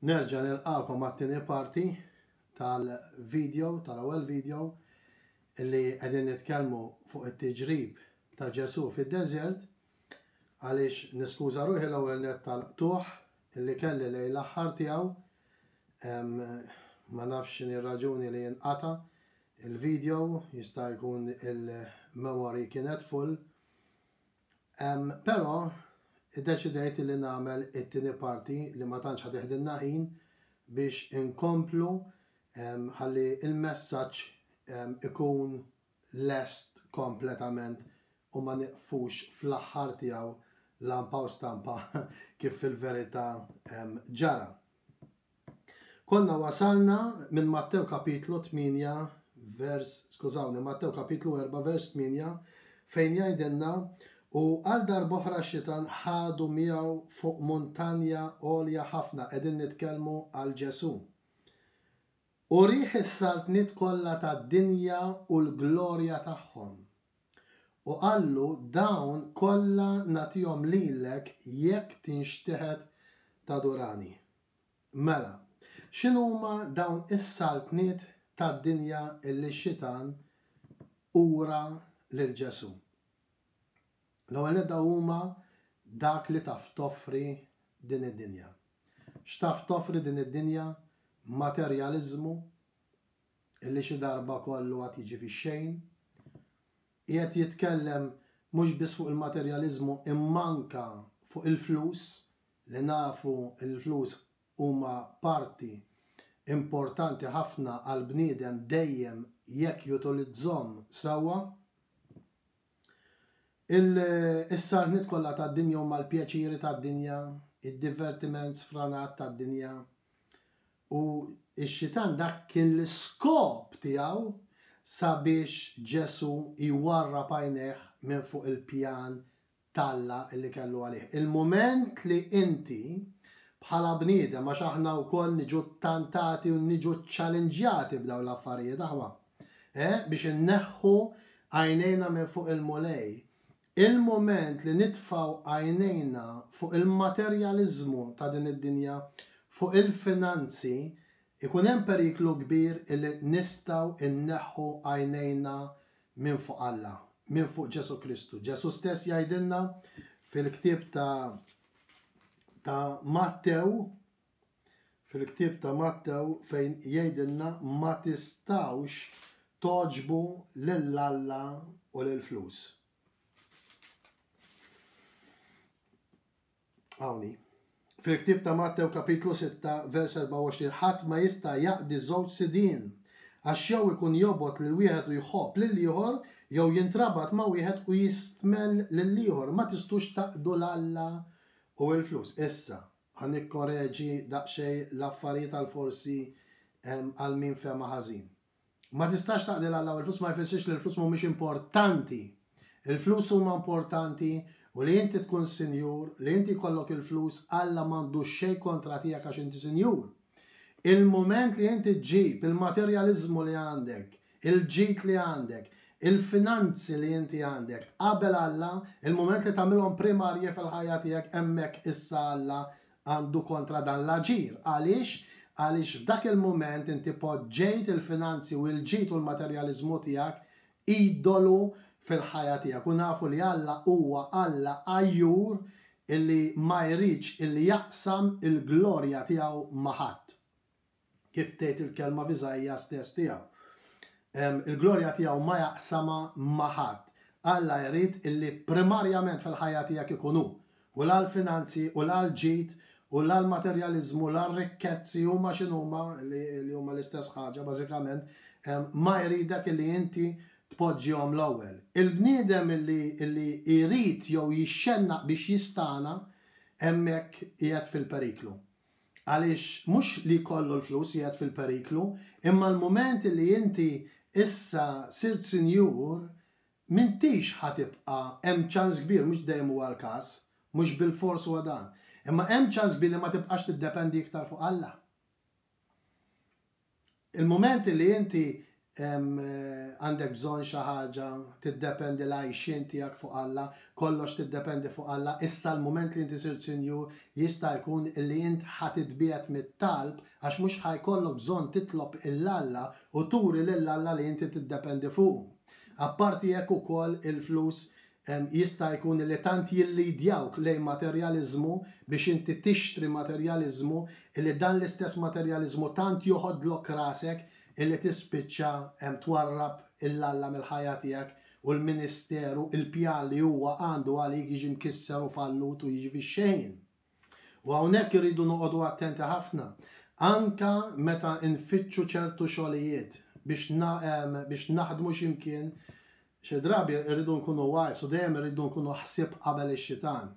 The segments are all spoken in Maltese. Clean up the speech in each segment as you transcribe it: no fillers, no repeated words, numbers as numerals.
Nerġa' nilqagħkom għat-tieni parti tal-video, tal-ewwel video li qegħdin nitkellmu fuq it-tiġrib ta' Ġesù fid-deżert għaliex niskuża ruħi l-ewwel nett tal-qtugħ li kelli lejn l-aħħar tiegħu. Ma nafx x'inhi r-raġuni li jinqata' il-video, jista' jkun il-memory kienet full. Però iddeċidejt li nagħmel it-tieni parti li ma tantx ħa teħdilna ħin biex inkomplu ħalli l-messaġġ ikun lest kompletament u ma nieqfux fl-aħħar tiegħu lampa u stampa kif fil-verità ġara. Konna wasalna minn Mattew kapitlu 8 vers, skużawni, Mattew kapitlu 4 vers 8 fejn jgħidilna u għal darb'oħra x-xitan ħadu miegħu fuq muntanja għolja ħafna, qegħdin nitkellmu għal Ġesù. U rieh is-saltniet kollha tad-dinja u l-glorja tagħhom. U qallu, Dawn kollha nagħtihom lilek jekk tinxteħet tadurani. Mela, x'inhuma dawn is-saltniet tad-dinja li x-Xitan ura lil Ġesù? L-ewwel nett dawn huma dak li taf toffri din id-dinja. X'taf toffri din id-dinja? Materjaliżmu illi xi darba kollu għad jiġi fix-xejn. Qiegħed jitkellem mhux biss fuq il-materjaliżmu imma anke fuq il-flus li nafu l-flus huma parti importanti ħafna għall-bniedem dejjem jekk jutilizzhom sewwa. Is-saltniet kollha tad-dinja huma l-pjaċiri tad-dinja, id-divertiment sfranat tad-dinja. U x-xitan dak kien l-iskop tiegħu sabiex Ġesù jwarrab għajnejh minn fuq il-pjan t'Alla li kellu għalih. Il-mument li inti, bħala bniedem, għax aħna wkoll niġu ttantati u niġu ċċalinġjati b'dawn l-affarijiet, aħwa, eh, biex inneħħu għajnejna minn fuq il-Mulej, il-mument li nitfgħu għajnejna fuq il-materjaliżmu ta' din id-dinja, fuq il-finanzi, ikun hemm periklu kbir illi nistgħu nneħħu għajnejna minn fuq Alla, minn fuq Ġesù Kristu. Ġesù stess jgħidilna fil-ktieb ta' ta' Mattew, fil-ktieb ta' Mattew fejn jgħidilna ma tistgħux togħġbu lil Alla u lill-flus. Hawn hi. Fil-ktieb ta' Mattew kapitlu 6 vers 24 ħadd ma jista' jaqdi żewġ sidien, għax jew ikun jobgħod lil wieħed u jħobb lill-ieħor, jew jintrabat ma' wieħed u jistmell lill-ieħor. Ma tistgħux taqdu 'l Alla u l-flus. Issa, ħa nikkoreġi daqsxejn l-affarijiet għal forsi għal min fehmha ħażin. Ma tistax taqdi 'l Alla u l-flus ma jfissirx li l-flus mhumiex importanti. Il-flus huma importanti u li inti tkun sinjur, li inti jkollok il-flus, Alla m'għandu xejn kontra tiegħek għax inti sinjur. Il-mument li inti ġġib il-materjaliżmu li għandek, il-ġid li għandek, il-finanzi li inti għandek qabel Alla, il-mument li tagħmilhom primarji fil-ħajja tiegħek hemmhekk issa Alla għandu kontra dan l-aġir. Għaliex? Għaliex f'dak il-mument inti poġġejt il-finanzi u l-ġid u l-materjaliżmu tiegħek idolu fil-ħajja tiegħek u nafu li Alla huwa Alla għajjur illi ma jridx illi jaqsam il-glorja tiegħu ma' ħadd. Kif tgħid il-kelma f'Iżaija stess tiegħu. Il-glorja tiegħu ma jaqsamha ma' ħadd. Alla jrid illi primarjament fil-ħajja tiegħek ikun hu. U la l-finanzi, u la l-ġid, u la l-materjaliżmu, la r-rikkezzi huma x'inhuma, li huma l-istess ħaġa bażikament, ma jridek illi inti tpoġġihom l-ewwel. Il-bniedem illi illi jrid jew jixxennaq biex jistagħna hemmhekk qiegħed fil-periklu. Għaliex mhux li jkollu l-flus qiegħed fil-periklu, imma l-mument li inti issa sirt sinjur, m'intix ħa tibqa' hemm ċans kbir, mhux dejjem huwa l-każ, mhux bilfors huwa dan, imma hemm ċans kbir li ma tibqax tiddependi iktar fuq Alla. Il-mument li inti Għandek bżonn xi ħaġa, tiddependi l-għajxien tiegħek fuq Alla, kollox tiddependi fuq Alla, issa l-mument li inti sirt sinjur jista' jkun li int ħa titbiegħed mit-talb għax mhux ħa jkollok bżonn titlob 'il Alla u turi lil Alla li inti tiddependi fuqu. Apparti hekk ukoll il-flus jista' jkun li tant jillidjawk lejn materjaliżmu biex inti tixtri materjaliżmu li dan l-istess materjaliżmu tant joħodlok rasek illi tispiċċa twarrab 'il Alla mill-ħajja tiegħek u l-ministeru, il-pjan li huwa għandu għalik jiġi mkisser u fallut u jiġi fix-xejn. U hawnhekk irridu noqogħdu attenti ħafna. Anka meta nfittxu ċertu xogħlijiet biex biex naħdmu xi mkien, xi drabi rridu nkunu wise u dejjem irridu nkunu ħsieb qabel ix-xitan.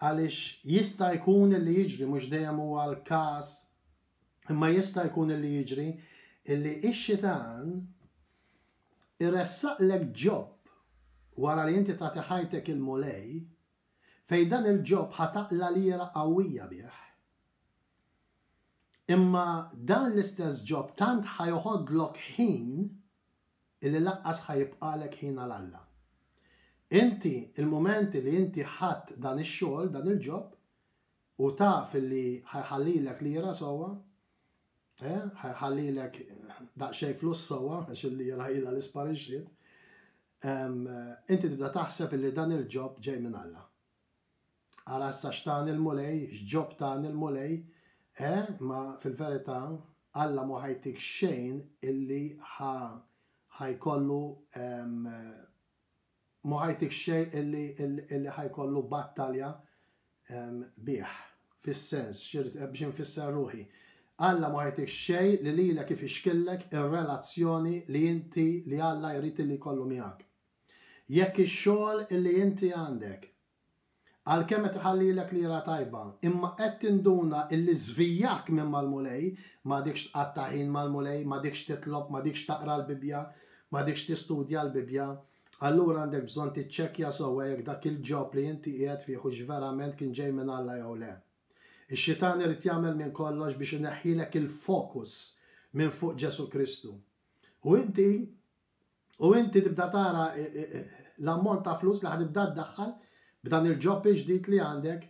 Għaliex jista' jkun li jiġri mhux dejjem huwa l-każ Imma jista' jkun illi jiġri illi x-xitan iressaqlek job wara li inti tagħti ħajtek il-Mulej, fejn dan il-job ħa taqla' lira qawwija bih. Imma dan l-istess job tant ħa joħodlok ħin illi lanqas ħa jibqagħlek ħin għal Alla. Inti, il-mument li inti ħadt dan ix-xogħol, dan il-job, U taf li ħa jħallilek lira sewwa, eh, ħa jħallilek daqsxejn flus sewwa, għax il-lira ilha li sparixxiet, inti tibda taħseb illi dan il-ġob ġej minn Alla. Ara issa x'tani l-Mulej, x'ġob tani l-Mulej, eh, ma fil-verità Alla mhu ħa jtik xejn illi ħa ħa jkollu Mhu ħa jtik xejn illi illi ħa jkollu battalja bih. Fis-sens, x'irrid biex infisser ruħi. Alla mhu ħa jtik xejn li lilek ifixkillek ir-relazzjoni li inti li Alla jrid illi jkollu miegħek. Jekk ix-xogħol illi inti għandek Għalkemm qed iħallilek lira tajba, imma qed tinduna illi żvijak minn mal-Mulej, m'għadikx tqatta' ħin mal-Mulej, m'għadikx titlob, m'għadikx taqra l-Bibbja, m'għadikx tistudja l-Bibbja, allura għandek bżonn tiċċekkja sewwa jekk dak il-job li inti qiegħed fih hux verament kien ġej minn Alla jew le. Ix-xitan irid jagħmel minn kollox biex ineħħilek il-fokus minn fuq Ġesù Kristu. U inti U inti tibda tara l-ammont ta' flus li ħa tibda ddaħħal b'dan il-job il-ġdid li għandek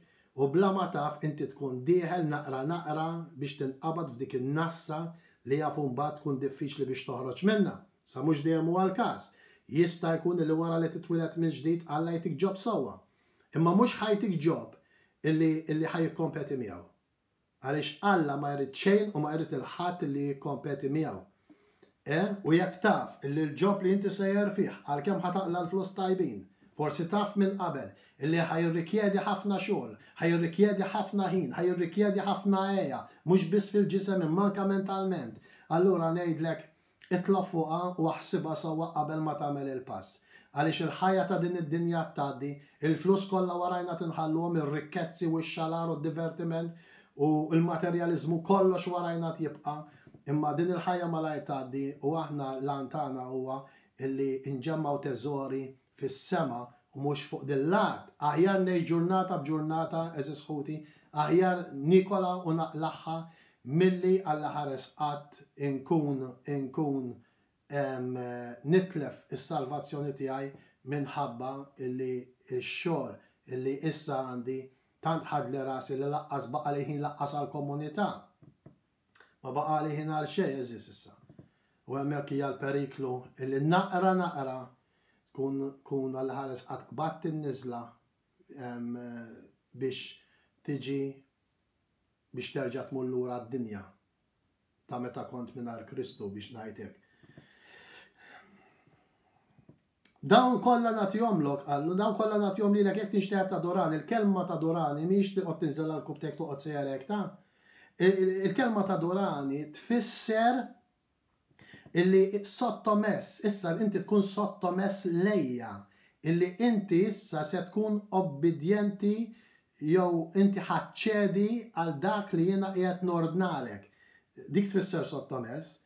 u bla ma taf inti tkun dieħel naqra naqra biex tinqabad f'dik in-nassa li jaf imbagħad tkun diffiċli biex toħroġ minnha. Sa mhux dejjem huwa l-każ. Jista' jkun li wara li titwieled mill-ġdid Alla jtik job sewwa. Imma mhux ħa jtik job illi illi ħa jikkompeti miegħu. Għaliex Alla ma jrid xejn u ma jrid 'il ħadd li jikkompeti miegħu. E, u jekk taf illi l-job li inti sejjer fih, għalkemm ħa taqla' l-flus tajbin, forsi taf minn qabel illi ħa jirrikjedi ħafna xogħol, ħa jirrikjedi ħafna ħin, ħa jirrikjedi ħafna għeja, mhux biss fil-ġisem imma anke mentalment, allura ngħidlek, Itlob fuqha u aħsibha sewwa qabel ma tagħmel il-pass. Għaliex il-ħajja ta' din id-dinja tgħaddi, il-flus kollha warajna tinħalluhom, ir-rikkezzi u x-xalar u d-divertiment u l-materjaliżmu kollox warajna tjibqa', imma din il-ħajja malajr tgħaddi u aħna l-għan tagħna huwa illi nġemmgħu teżori fis-sema u mhux fuq din l-art. Aħjar ngħix ġurnata b'ġurnata, għeżież ħuti, aħjar niekolha u naqlagħha milli Alla ħares qatt inkun inkun nitlef is-salvazzjoni tiegħi minħabba illi x-xogħol illi issa għandi tant ħadli rasi li laqqas baqali ħin laqqas għall-komunità. Ma baqali ħin għal xejn, għeżież issa. U hemmhekk hija l-periklu illi naqra naqra tkun tkun Alla ħares qatt qbadt in-niżla biex tiġi biex terġa' tmur lura d-dinja ta' meta kont mingħajr Kristu biex ngħid hekk. Dawn kollha nagħtihomlok, qallu, dawn kollha nagħtihom lilek jekk tinxteħet tadurani. Il-kelma tadurani mhijiex toqgħod tinżel għal rkubbtejk toqgħod sejjer hekk ta'. Il-kelma tadurani tfisser illi sottomess, issa inti tkun sottomess lejja, illi inti issa se tkun obbidjenti jew inti ħa ċċedi għal dak li jiena qiegħed nordnalek. Dik tfisser sottomess.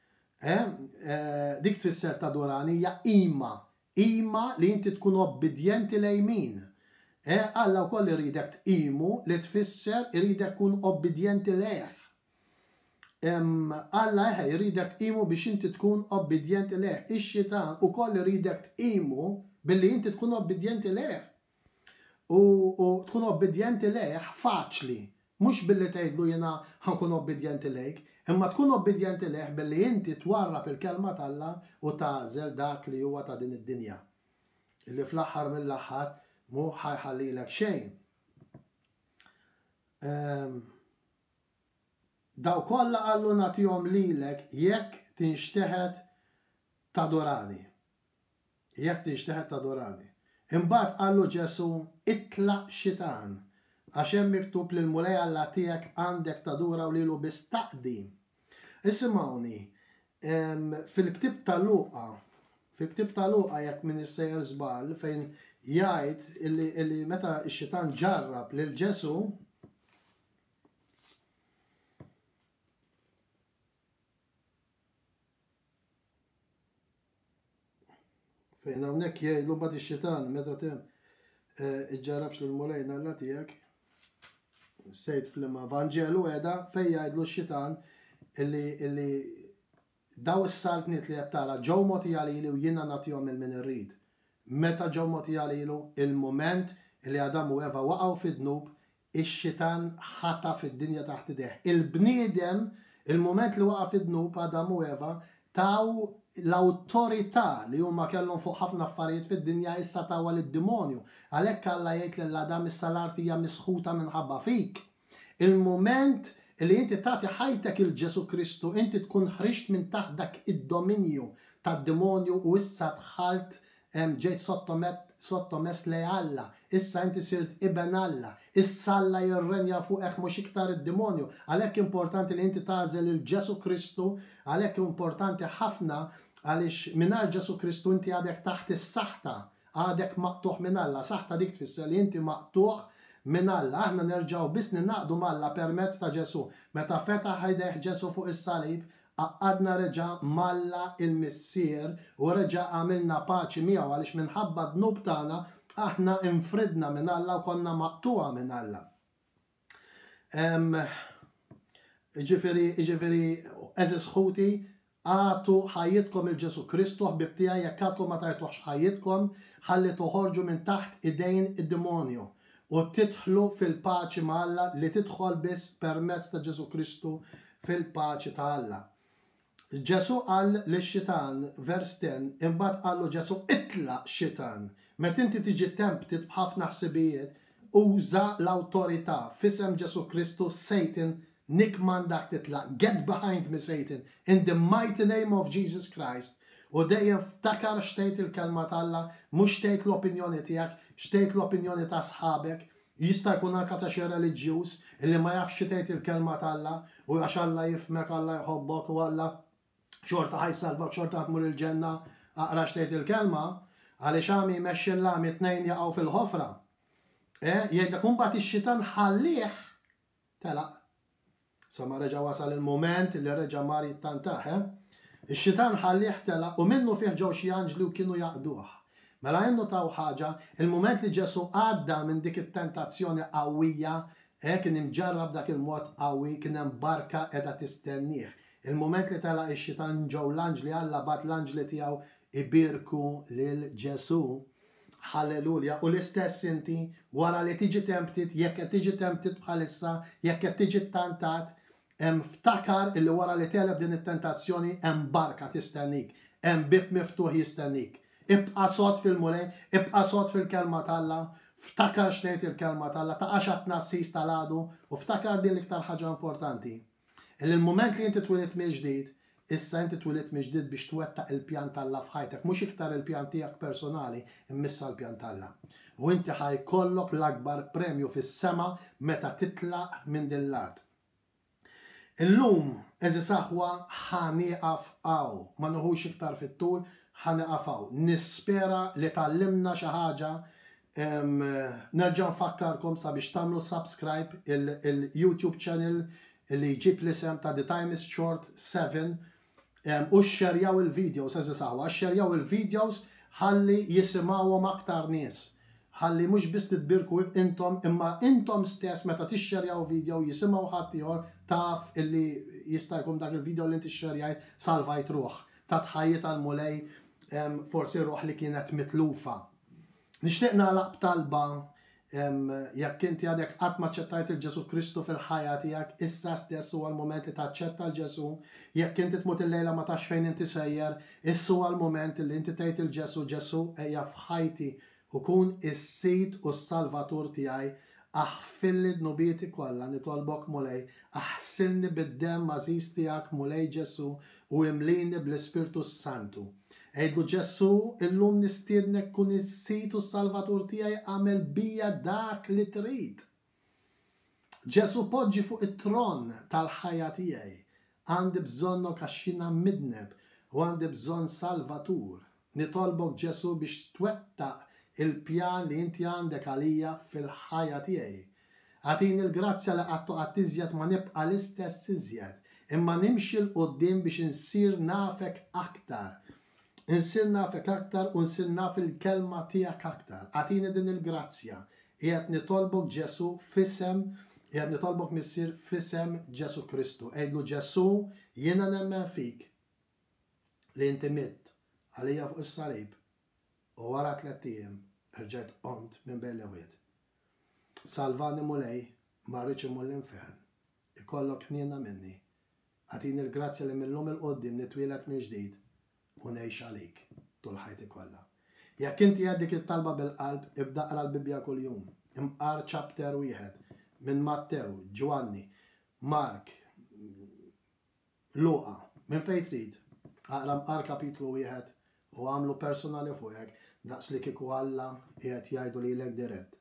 Eh, eh, dik tfisser tadurani hija qima. Qima li inti tkun obbidjenti lejn min? Eh, Alla wkoll iridek tqimu li tfisser iridek tkun obbidjenti lejh. Alla eħe jridek tqimu biex inti tkun obbidjenti lejh. Ix-xitan ukoll iridek tqimu billi inti tkun obbidjenti lejh. U, u tkun obbidjenti lejh faċli, mhux billi tgħidlu jiena ħa nkun obbidjenti lejk, imma tkun obbidjenti lejh billi inti twarrab il-kelma t'Alla u tagħżel dak li huwa ta' din id-dinja. Illi fl-aħħar mill-aħħar mhu ħa jħallilek xejn. Ehm, Daw kollha qallu nagħtihom lilek jekk tinxteħet tadorani. Jekk tinxteħet tadorani. Imbagħad qallu Ġesù, Itlaq xitan, għax hemm miktub lill-Mulej Alla tiegħek għandek tadura u lilu biss taqdi. Isimgħuni, fil-ktieb ta' Luqa, fil-ktieb ta' Luqa jekk m'iniex sejjer żball, fejn jgħid illi meta x-xitan ġarrab lil Ġesù, Fejn hawnhekk jgħidlu mbagħad ix-xitan meta tem eh, iġġarrabx lill-Mulej Alla tiegħek. Sejt fl-imma Vanġelu qiegħda fejn jgħidlu x-xitan illi illi daw is-saltniet li qed tara ġew mogħtija lili u jiena nagħtihom lil min irrid. Meta ġew mogħtija lilu? Il-mument li Adam u Eva waqgħu fid-dnub, Ix-xitan ħataf id-dinja taħt idejh. Il-bniedem, il-mument li waqa' fid-dnub, Adam u Eva, taw l-awtorità li huma kellhom fuq ħafna affarijiet fid-dinja issa tawha lid-dimonju. Għalhekk Alla jgħid lil Adam issa l-art hija misħuta minħabba fik. Il-mument li inti tagħti ħajtek 'il Ġesù Kristu, inti tkun ħriġt minn taħt dak id-dominju tad-dimonju u issa dħalt Ġejt sottomess lejn Alla. Issa inti sirt iben Alla. Issa Alla jirrenja fuqek mhux iktar id-dimonju. Għalhekk importanti li inti tagħżel lil Ġesù Kristu, għalhekk importanti ħafna għaliex mingħajr Ġesù Kristu inti għadek taħt is-saħta, għadek maqtugħ minn Alla. Saħta dik tfisser li inti maqtugħ minn Alla. Aħna nerġgħu biss ningħaqdu m'Alla permezz ta' Ġesù. Meta fetaħ idejh Ġesù fuq is-salib, Għaqqadna reġa' m'Alla il-Missier u reġa' għamilna paċi miegħu għaliex minħabba d-dnub tagħna aħna infridna minn Alla u konna maqtugħa minn Alla. Jiġifieri, jiġifieri, għeżież ħuti, agħtu ħajjitkom 'il Ġesù Kristu, ħbieb tiegħi, jekk għadkom ma tajtuhx ħajjitkom, ħalli toħorġu minn taħt idejn id-dimonju u tidħlu fil-paċi ma' Alla li tidħol biss permezz ta' Ġesù Kristu fil-paċi ta' Alla. Ġesù qal lix-xitan, vers 10, imbagħad qallu Ġesù, Itlaq, xitan! Meta inti tiġi tempted b'ħafna ħsibijiet, uża l-awtorità, f'isem Ġesù Kristu, Satan, nikkmandak titlaq, get behind me Satan, in the mighty name of Jesus Christ, u dejjem ftakar x'tgħid il-Kelma t'Alla, mhux x'tgħid l-opinjoni tiegħek, x'tgħid l-opinjoni ta' sħabek, Jista' jkun anke ta' xi reliġjuż illi ma jafx xi tgħid il-Kelma t'Alla u għax Alla jifhmek, Alla jħobbok u Alla xorta ħa jsalvak, xorta ħa tmur il-ġenna, aqra x'tgħid il-Kelma, għaliex għami jmexxi l-għami tnejn jaqgħu fil-ħofra. Eh, jgħidlek u mbagħad ix-xitan ħallieh telaq. Sa ma reġa' wasal il-mument li reġa' mar jittantah, eh? Ix-xitan ħallieh telaq u minnufih ġew xi anġli u kienu jaqduh. Mela innutaw ħaġa, il-mument li Ġesù għadda minn dik it-tentazzjoni qawwija, eh, kien imġarrab dak il-mod qawwi, kien hemm barka qiegħda tistennieh. Il-mument li telaq ix-xitan ġew l-anġli, Alla bagħat l-anġli tiegħu ibierku lil Ġesù. Hallelujah. U l-istess inti, wara li tiġi tempted, jekk qed tiġi tempted bħalissa, jekk qed tiġi ttantat, hemm ftakar illi wara li tegħleb din it-tentazzjoni hemm barka tistennik, hemm bieb miftuħ jistennik. Ibqa' sod fil-Mulej, ibqa' sod fil-Kelma t'Alla, ftakar x'tgħid il-Kelma t'Alla, taqax għat-tnassis tal-għadu u ftakar din l-iktar ħaġa importanti. Illi l-mument li inti twilidt mill-ġdid, issa inti twilidt mill-ġdid biex twettaq il-pjan t'Alla f'ħajtek, mhux iktar il-pjan tiegħek personali, imma issa l-pjan t'Alla. U inti ħa jkollok l-akbar premju fis-sema meta titlaq minn din l-art. Illum, għeżież aħwa, ħa nieqaf hawn. Ma nieħux iktar fit-tul, ħa nieqaf hawn. Nispera li tgħallimna xi ħaġa Nerġa' nfakkarkom sabiex tagħmlu subscribe il-YouTube channel li jġib l-isem ta' The Time is Short 7 u xxerjaw il-videos, għeżież aħwa, xxerjaw il-videos ħalli jisimgħuhom aktar nies. Ħalli mhux biss titbierku intom imma intom stess meta tixxerjaw video jisimgħu ħaddieħor taf illi jista' jkun dak il-video li inti xxerjajt salvajt ruħ. Tat ħajjitha l-Mulej forsi ruħ li kienet mitlufa. Nixtieq nagħlaq b'talba jekk inti għadek qatt ma aċċettajt il Ġesù Kristu fil-ħajja tiegħek, issa stess huwa l-mument li taċċetta l Ġesù. Jekk inti tmut illejla ma tafx fejn inti sejjer, issa huwa l-mument li inti tgħid il Ġesù, Ġesù ejja f'ħajti u kun is-Sid u s-Salvatur tiegħi, aħfirli dnubieti kollha, nitolbok Mulej, aħsilni bid-demm għażiż tiegħek Mulej Ġesù u imlini bl-Ispirtu s-Santu. Għidlu Ġesù, illum nistiednek kun is-Sid u s-Salvatur tiegħi agħmel bija dak li trid. Ġesù poġġi fuq it-tron tal-ħajja tiegħi. Għandi bżonnok għax jiena midneb u għandi bżonn Salvatur. Nitolbok Ġesù biex twettaq il-pjan li inti għandek għalija fil-ħajja tiegħi. Agħtini l-grazzja li qatt u qatt iżjed ma nibqa' l-istess iżjed, imma nimxi 'l quddiem biex insir nafek aktar. Insir nafek aktar u nsir naf il-Kelma tiegħek aktar. Agħtini din il-grazzja. Qiegħed nitolbok Ġesù f'isem Qiegħed nitolbok Missier f'isem Ġesù Kristu. Għidlu Ġesù, jiena nemmen fik. li inti mitt għalija fuq is-salib u wara tlett ijiem erġajt qomt minn bejn l-imwiet. Salvani Mulej, ma rridx immur l-infern. Ikollok ħniena minni. Agħtini l-grazzja li mil-lum 'il quddiem nitwieled mill-ġdid u ngħix għalik tul ħajti kollha. Jekk inti għedt dik it-talba bil-qalb, ibda aqra l-Bibbja kuljum. Imqar chapter wieħed minn Mattew, Ġwanni, Mark, Luqa, minn fejn trid, aqra mqar kapitlu wieħed u agħmlu personali fuqek daqs li kieku Alla qiegħed jgħidu lilek dirett.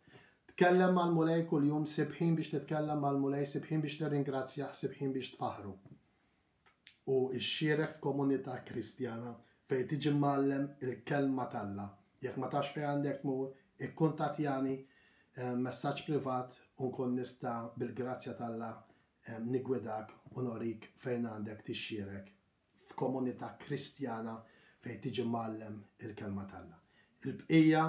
Tkellem mal-Mulej kuljum, sib ħin biex titkellem mal-Mulej, sib ħin biex tirringrazzjah, sib ħin biex tfaħħru. U xxierek f'komunità Kristjana fejn tiġi mgħallem il-Kelma t'Alla. Jekk ma tafx fejn għandek tmur, ikkuntattjani messaġġ privat u nkun nista' bil-grazzja t'Alla niggwidak u norik fejn għandek tixxierek f'komunità Kristjana fejn tiġi mgħallem il-Kelma t'Alla. Il-bqija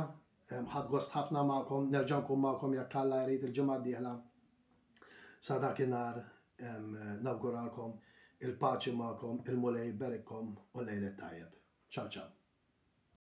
ħadt gost ħafna magħkom, nerġa' nkun magħkom jekk Alla jrid il-ġimgħa d-dieħla. Sa dakinhar nawguralkom il-paċi magħkom, il-Mulej iberikkom u lejl it-tajjeb. Ciao ciao.